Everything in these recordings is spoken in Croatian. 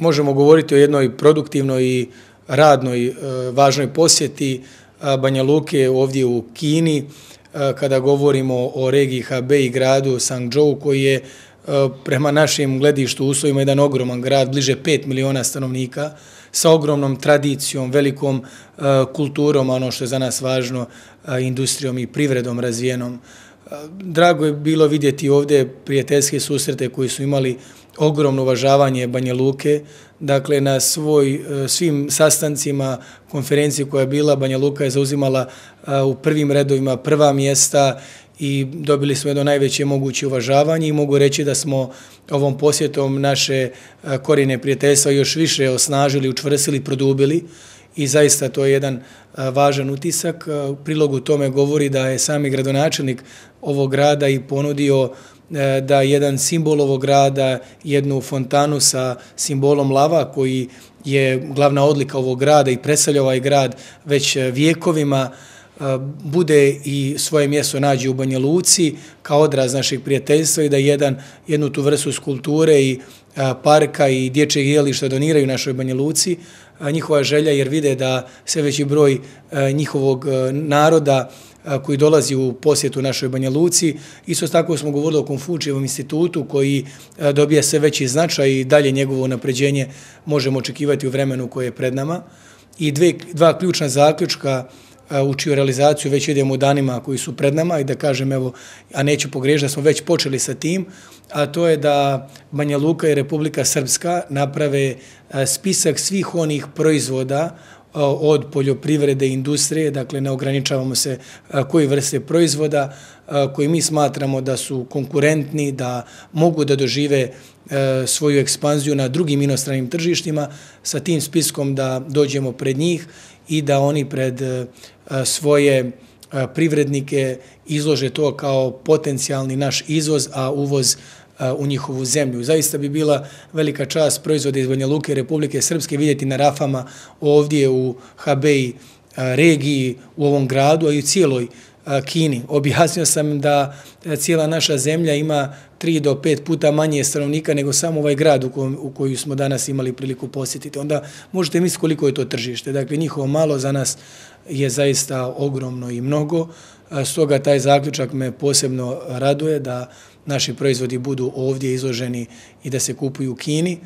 možemo govoriti o jednoj produktivnoj i radnoj važnoj posjeti Banja Luke ovdje u Kini, kada govorimo o regiji Hebei i gradu Sangzhou, koji je prema našim gledištu uslovima jedan ogroman grad, bliže 5 miliona stanovnika, sa ogromnom tradicijom, velikom kulturom, ono što je za nas važno, industrijom i privredom razvijenom. Drago je bilo vidjeti ovdje prijateljske susrete koji su imali ogromno uvažavanje Banja Luke. Dakle, na svim sastancima, konferenciji koja je bila, Banja Luka je zauzimala u prvim redovima prva mjesta i dobili smo jedno najveće moguće uvažavanje i mogu reći da smo ovom posjetom naše korijene prijateljstva još više osnažili, učvrstili, produbili i zaista to je jedan važan utisak. U prilogu tome govori da je sami gradonačelnik ovog grada i ponudio da jedan simbol ovog grada, jednu fontanu sa simbolom lava koji je glavna odlika ovog grada i predstavlja ovaj grad već vijekovima, bude i svoje mjesto nađe u Banja Luci kao odraz našeg prijateljstva i da jednu tu vrstu skulpture i parka i dječjeg igrališta doniraju našoj Banja Luci. Njihova želja jer vide da sve veći broj njihovog naroda koji dolazi u posjetu našoj Banja Luci. Isto tako smo govorili o Konfučijevom institutu koji dobija sve veći značaj i dalje njegovo napređenje možemo očekivati u vremenu koje je pred nama. I dva ključna zaključka u čiju realizaciju već idemo u danima koji su pred nama i da kažem, evo, a neću pogriješiti da smo već počeli sa tim, a to je da Banja Luka i Republika Srpska naprave spisak svih onih proizvoda od poljoprivrede i industrije, dakle ne ograničavamo se koji vrste proizvoda koji mi smatramo da su konkurentni, da mogu da dožive svoju ekspanziju na drugim inostranim tržištima, sa tim spiskom da dođemo pred njih i da oni pred svoje privrednike izlože to kao potencijalni naš izvoz, a uvoz u njihovu zemlju. Zaista bi bila velika čast proizvode iz Banja Luke Republike Srpske vidjeti na rafama ovdje u Hebei regiji, u ovom gradu, a i u cijeloj Kini. Objasnio sam da cijela naša zemlja ima 3 do 5 puta manje stanovnika nego samo ovaj grad u koju smo danas imali priliku posjetiti. Onda možete misliti koliko je to tržište. Dakle, njihovo malo za nas je zaista ogromno i mnogo. Stoga taj zaključak me posebno raduje da naši proizvodi budu ovdje izloženi i da se kupuju u Kini.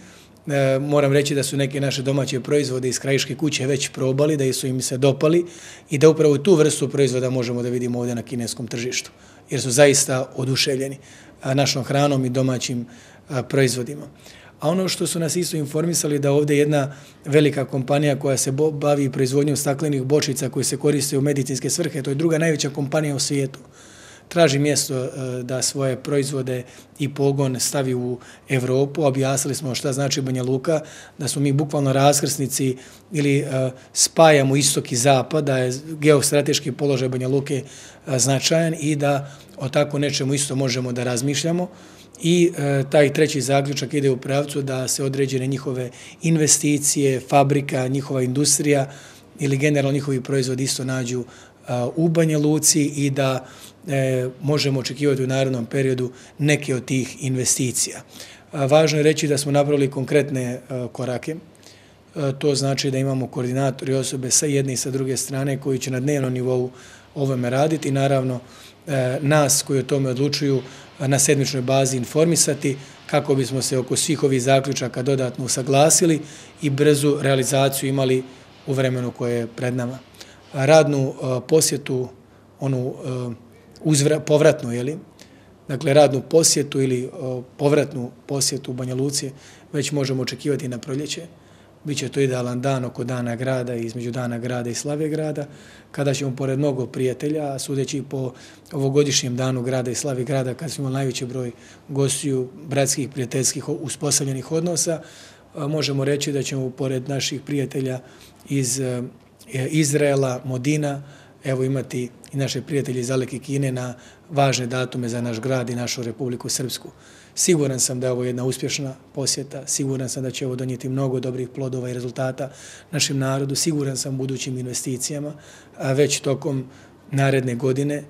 Moram reći da su neke naše domaće proizvode iz krajiške kuće već probali, da su im se dopali i da upravo tu vrstu proizvoda možemo da vidimo ovdje na kineskom tržištu, jer su zaista oduševljeni našom hranom i domaćim proizvodima. A ono što su nas isto informisali da ovdje jedna velika kompanija koja se bavi proizvodnjom staklenih bočica koje se koriste u medicinske svrhe, to je druga najveća kompanija u svijetu, traži mjesto da svoje proizvode i pogon stavi u Evropu. Objasnili smo šta znači Banja Luka, da smo mi bukvalno raskrsnici ili spajamo istok i zapad, da je geostrateški položaj Banja Luke značajan i da o tako nečemu isto možemo da razmišljamo. I taj treći zaključak ide u pravcu da se određene njihove investicije, fabrika, njihova industrija ili generalno njihovi proizvodi isto nađu u Banja Luci i da možemo očekivati u narednom periodu neke od tih investicija. Važno je reći da smo napravili konkretne korake. To znači da imamo koordinatori osobe sa jedne i sa druge strane koji će na dnevnom nivou ovome raditi i naravno nas koji o tome odlučuju na sedmičnoj bazi informisati kako bismo se oko svih ovih zaključaka dodatno usaglasili i brzu realizaciju imali u vremenu koje je pred nama. Radnu posjetu, onu povratnu, dakle radnu posjetu ili povratnu posjetu u Banja Luci već možemo očekivati na proljeće. Biće to idealan dan oko Dana grada i između Dana grada i Slave grada, kada ćemo pored mnogo prijatelja, sudeći po ovogodišnjem Danu grada i Slavi grada, kada smo imali najveći broj gostiju, bratskih, prijateljskih uspostavljenih odnosa, možemo reći da ćemo pored naših prijatelja iz Izraela, Modina, evo imati i naše prijatelje iz daleke Kine na važne datume za naš grad i našu Republiku Srpsku. Siguran sam da je ovo jedna uspješna posjeta, siguran sam da će ovo donijeti mnogo dobrih plodova i rezultata našem narodu, siguran sam budućim investicijama, a već tokom naredne godine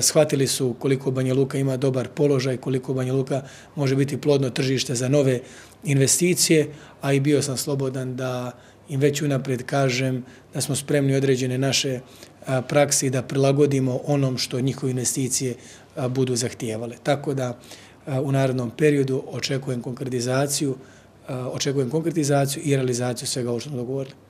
shvatili su koliko Banja Luka ima dobar položaj, koliko Banja Luka može biti plodno tržište za nove investicije, a i bio sam slobodan da im već unaprijed kažem da smo spremni određene naše praksi da prilagodimo onom što njihove investicije budu zahtijevale. Tako da u narednom periodu očekujem konkretizaciju i realizaciju svega ovo što smo dogovorili.